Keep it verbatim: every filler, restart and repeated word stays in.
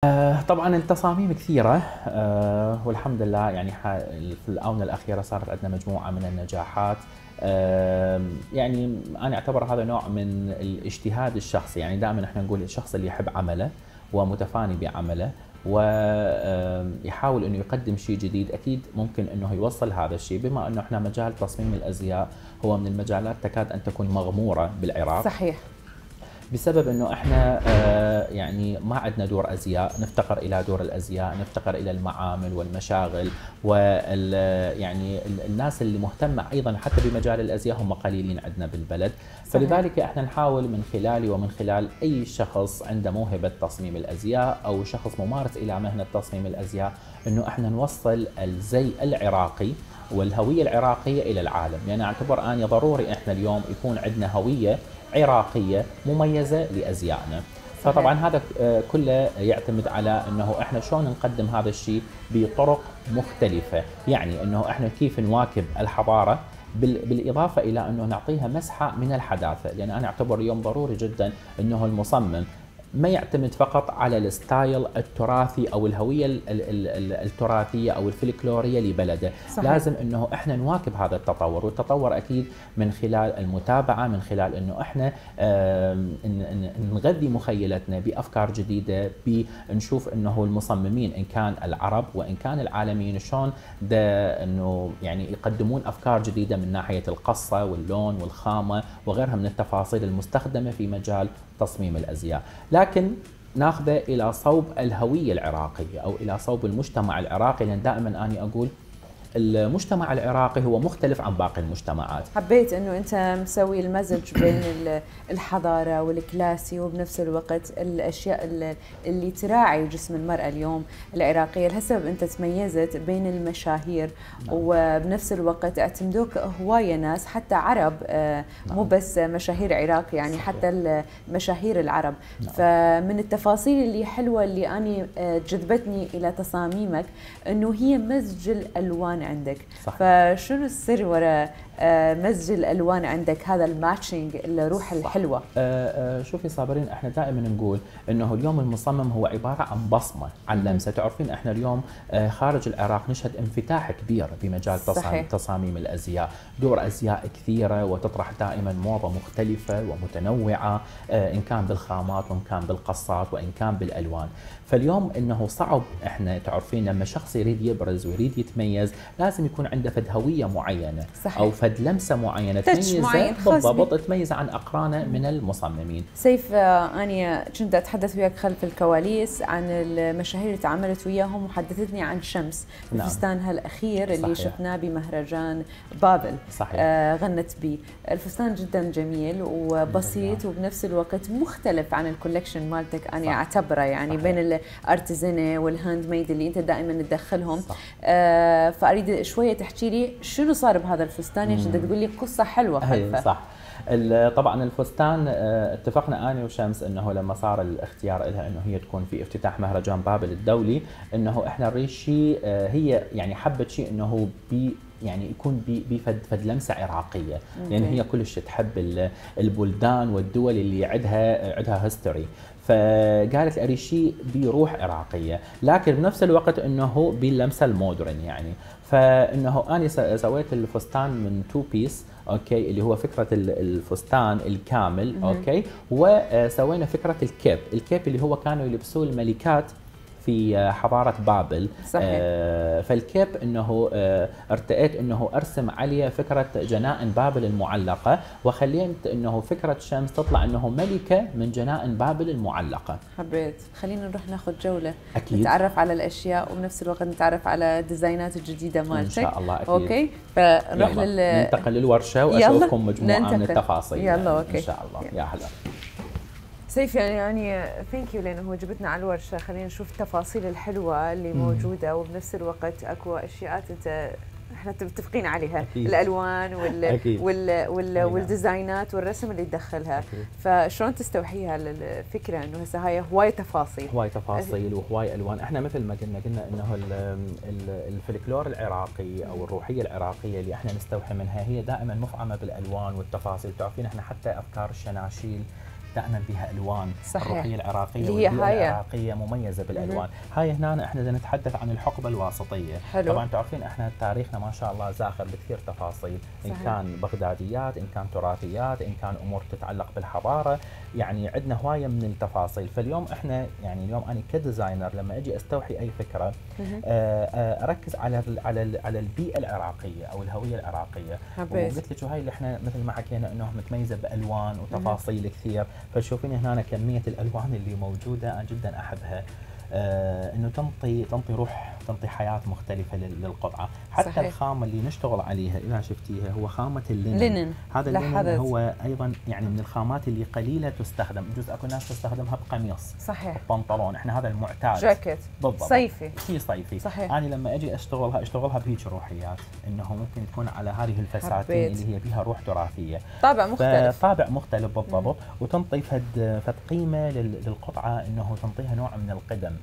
آه، طبعا التصاميم كثيرة، آه، والحمد لله يعني في الآونة الأخيرة صارت عندنا مجموعة من النجاحات. آه، يعني أنا أعتبر هذا نوع من الاجتهاد الشخصي، يعني دائما احنا نقول الشخص اللي يحب عمله ومتفاني بعمله ويحاول انه يقدم شيء جديد، اكيد ممكن انه يوصل هذا الشيء. بما انه احنا مجال تصميم الازياء هو من المجالات تكاد ان تكون مغمورة بالعراق. صحيح. بسبب انه احنا آه يعني ما عندنا دور ازياء، نفتقر الى دور الازياء، نفتقر الى المعامل والمشاغل، وال يعني الناس اللي مهتمه ايضا حتى بمجال الازياء هم قليلين عندنا بالبلد. صحيح. فلذلك احنا نحاول من خلالي ومن خلال اي شخص عنده موهبه تصميم الازياء او شخص ممارس الى مهنه تصميم الازياء انه احنا نوصل الزي العراقي والهويه العراقيه الى العالم. يعني اعتبر اني ضروري احنا اليوم يكون عندنا هويه عراقية مميزة لأزيائنا. فطبعا هذا كله يعتمد على انه احنا شلون نقدم هذا الشيء بطرق مختلفة، يعني انه احنا كيف نواكب الحضارة بالاضافة الى انه نعطيها مسحة من الحداثة. لان انا اعتبر اليوم ضروري جدا انه المصمم ما يعتمد فقط على الستايل التراثي او الهويه التراثيه او الفلكلوريه لبلده. صحيح. لازم انه احنا نواكب هذا التطور، والتطور اكيد من خلال المتابعه، من خلال انه احنا نغذي مخيلتنا بافكار جديده، بنشوف انه المصممين ان كان العرب وان كان العالميين شلون ده انه يعني يقدمون افكار جديده من ناحيه القصه واللون والخامه وغيرها من التفاصيل المستخدمه في مجال تصميم الازياء، لكن ناخذه الى صوب الهويه العراقيه او الى صوب المجتمع العراقي. لان دائما اني اقول المجتمع العراقي هو مختلف عن باقي المجتمعات. حبيت انه انت مسوي المزج بين الحضاره والكلاسي وبنفس الوقت الاشياء اللي تراعي جسم المراه اليوم العراقيه. لهالسبب انت تميزت بين المشاهير. نعم. وبنفس الوقت اعتمدوك هوايه ناس حتى عرب، مو بس مشاهير عراق، يعني صحيح. حتى المشاهير العرب. نعم. فمن التفاصيل اللي حلوه اللي اني جذبتني الى تصاميمك انه هي مزج الالوان عندك. صحيح. فشنو السر وراء مزج الالوان عندك، هذا الماتشنج، الروح الحلوه؟ آه آه شوفي صابرين، احنا دائما نقول انه اليوم المصمم هو عباره عن بصمه، عن لمسه. تعرفين احنا اليوم آه خارج العراق نشهد انفتاح كبير بمجال تصاميم, تصاميم الازياء، دور ازياء كثيره وتطرح دائما موضه مختلفه ومتنوعه، آه ان كان بالخامات وان كان بالقصات وان كان بالالوان. فاليوم انه صعب، احنا تعرفين لما شخص يريد يبرز ويريد يتميز لازم يكون عنده فد هويه معينه. صحيح. او فد لمسه معينه تميزه بالضبط، تميزه عن اقرانه من المصممين. سيف، اني كنت اتحدث وياك خلف الكواليس عن المشاهير اللي تعاملت وياهم وحدثتني عن شمس الفستان. نعم. هالاخير اللي صحيح. شفناه بمهرجان بابل. صحيح. آه غنت به. الفستان جدا جميل وبسيط وبنفس الوقت مختلف عن الكولكشن مالتك. انا اعتبره يعني صحيح. بين الارتزنه والهاند ميد اللي انت دائما تدخلهم. آه فاريد شويه تحكي لي شنو صار بهذا الفستان، عشان تقول لي قصه حلوه خلفه. صح. طبعا الفستان اتفقنا انا وشمس انه لما صار الاختيار لها انه هي تكون في افتتاح مهرجان بابل الدولي، انه احنا نريد شيء، هي يعني حبت شيء انه بي يعني يكون بفد فد لمسه عراقيه، لان يعني هي كلش تحب البلدان والدول اللي عندها عندها هيستوري. فقالت اريد شيء بروح عراقيه، لكن بنفس الوقت انه باللمسه المودرن يعني. فانه انا سويت الفستان من تو بيس، اوكي، اللي هو فكره الفستان الكامل، اوكي، وسوينا فكره الكيب، الكيب اللي هو كانوا يلبسوه الملكات في حضارة بابل. صحيح. آه فالكيب انه آه ارتأيت انه ارسم عليه فكرة جنائن بابل المعلقة، وخليت انه فكرة شمس تطلع انه ملكة من جنائن بابل المعلقة. حبيت. خلينا نروح ناخذ جولة. أكيد. نتعرف على الاشياء وبنفس الوقت نتعرف على الديزاينات الجديدة مالتك. ان شاء الله. أكيد. اوكي، فنروح لل ننتقل للورشة واشوفكم مجموعة ننتقل. من التفاصيل. يلا. يعني. اوكي ان شاء الله. يلا. يا هلا سيف، يعني يعني ثانك يو لانه جبتنا على الورشه. خلينا نشوف التفاصيل الحلوه اللي مم. موجوده، وبنفس الوقت اكو اشياء انت احنا متفقين عليها. أكيد. الالوان وال أكيد. وال وال والديزاينات والرسم اللي تدخلها. أكيد. فشلون تستوحيها الفكره انه هسه هاي هواي تفاصيل هواي تفاصيل وهواي الوان. احنا مثل ما قلنا قلنا انه الفلكلور العراقي او الروحيه العراقيه اللي احنا نستوحي منها هي دائما مفعمه بالالوان والتفاصيل. تعرفين احنا حتى افكار الشناشيل دائما بها الوان. صحيح. الروحيه العراقيه اللي هي والبيئه هاي. العراقيه مميزه بالالوان. هاي هنا احنا بدنا نتحدث عن الحقبه الواسطيه. حلو. طبعا تعرفين احنا تاريخنا ما شاء الله زاخر بكثير تفاصيل، ان صحيح. كان بغداديات، ان كان تراثيات، ان كان امور تتعلق بالحضاره، يعني عندنا هوايه من التفاصيل. فاليوم احنا يعني اليوم انا كديزاينر لما اجي استوحي اي فكره آه اركز على ال على ال على البيئه العراقيه او الهويه العراقيه. وقلت لك وهي اللي احنا مثل ما حكينا انه متميزه بالوان وتفاصيل كثير. فتشوفين هنا كميه الالوان اللي موجوده انا جدا احبها. آه انه تنطي تنطي روح، تنطي حياه مختلفه للقطعه. حتى صحيح. الخامه اللي نشتغل عليها اذا شفتيها هو خامه اللينن. لينن. هذا اللينن هو ايضا يعني من الخامات اللي قليله تستخدم، يجوز اكو ناس تستخدمها بقميص صحيح، بنطلون، احنا هذا المعتاد جاكيت بالضبط صيفي، شيء صيفي. صحيح. انا لما اجي اشتغلها اشتغلها بهيك روحيات، انه ممكن تكون على هذه الفساتين حبيت. اللي هي بها روح تراثيه، طابع مختلف، طابع مختلف بالضبط. مم. وتنطي فد فد قيمه للقطعه، انه تنطيها نوع من القدم.